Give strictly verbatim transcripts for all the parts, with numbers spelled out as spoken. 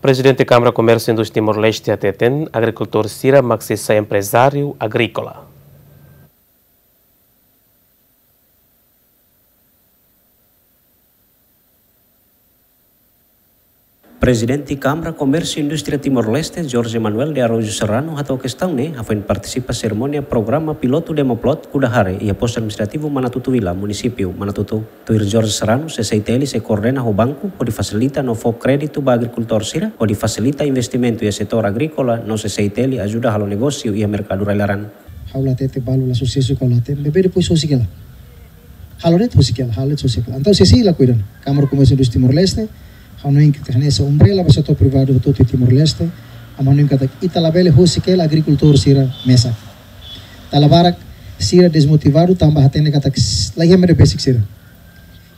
Prezidente Kámara Komérsiu Indústria Timor-Leste hateten agrikultór sira mak sei sai emprezáriu agríkola. Prezidente Kámara Komérsiu Indústria Timor-Leste, Jorge Manuel de Araújo Serrano, hato'o kestaun ne'e hafoin partisipa serimónia programa pilotu Demoplot Kudahare iha Postu Administrativu Manatuto Vila, Munisípiu Manatuto. Tuir Jorge Serrano, C C I T L sei koordena ho banku hodi fasilita no fó kréditu ba agrikultór sira hodi fasilita investimentu iha setór agríkola no C C I T L ajuda halo negósiu iha merkadu rai-laran. Ha'u la hatete balu la susesu ka la hatene, maibé depois husik hela. Halo de'it husik hela, halo de'it husik hela. Entaun, C C I la kuidadu. Kámara Komérsiu Indústria Timor-Leste, ha'u hanoin katak hanesan umbrella ba setór privadu hotu-hotu iha Timor-Leste, ha'u hanoin katak ita labele husik hela agrikultór sira mesak. Dala barak sira desmotivadu tanba hatene katak s-, laiha ema ne'ebé besik sira.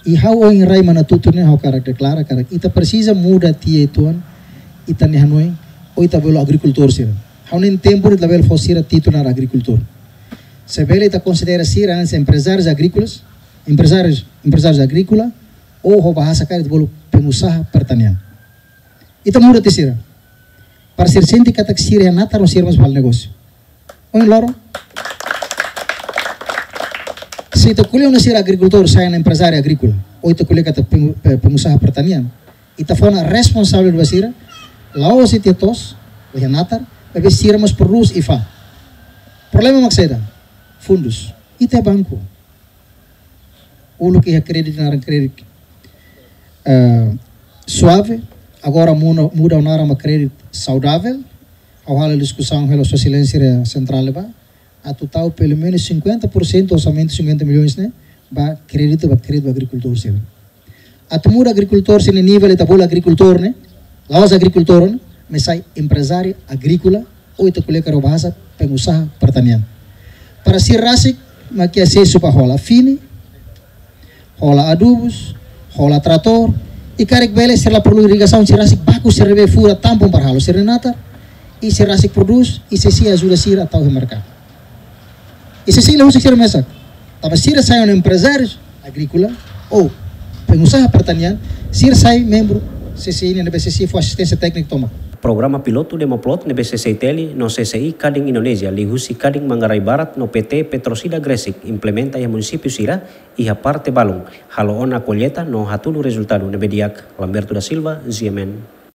I ha'u ohin rai Manatuto ne'e ha'u hakarak deklara katak ita presiza muda tiha uitoan ita-nia hanoin, ou ita bolu agrikultór sira. Ha'u hanoin tempu ne'e labele fó sira títulu naran agrikultór. Se bele ita konsidera sira hanesan emprezárius agríkolas, emprezárius, emprezárius agríkola, ou ho bahasa karik ita bolu pengusaha pertanian. Ita muda tiha sira. Para sira sente katak sira iha natar no sira mós bele halo negósiu. Ohin loron, se ita ko'alia ona sira agrikultór sai ona emprezáriu agríkola, ou ita ko'alia katak pengu-, pe-, pengusaha pertanian, ita fó ona responsabilidade ba sira, la'ós ita to'os, laiha natar, maibé sira mós prodús i fa'an. Problema mak saida? Fundus. Ita banku. Uluk iha kréditu naran kréditu, eh, suave, agora muda, muda naran ba kréditu saudável. Ha'u halo diskusaun hela ho Sua Exelénsia Sentrál ba, atu tau pelumenus cinquenta por cento orsamentu cinquenta milhões ne'e ba kréditu, ba kréditu ba agrikultór sira. Atu muda agrikultór sira-nia nivel, ita bolu agrikultór ne'e, la'ós agrikultór ne'e, maibé sai emprezáriu agríkola, ou ita ko'alia karik ho bahasa pengusaha pertanian. Para sira rasik mak iha asesu ba hola fini, hola adubus, hola tratór, i karik bele sira la perlu irrigasaun, sira rasik baku sira ne'ebé fura tampon para halo sira-nia natar, i sira rasik prodús, i C C I ajuda sira tau iha merkadu. I C C I la husik sira mesak. Tanba sira sai ona emprezárius agríkola ou pengusaha pertanian, sira sai membru C C I ne'ebé C C I fó asisténsia téknika tomak. Programa pilotu Demoplot ne'ebé C C I T L no C C I Kadin Indonézia liuhusi Kadin Manggarai Barat no P T Petrosida Gresik implementa iha munisípiu sira iha parte balun, halo ona kolleta no hatudu rezultadu ne'ebé di'ak. Lamberto da Silva, G M N.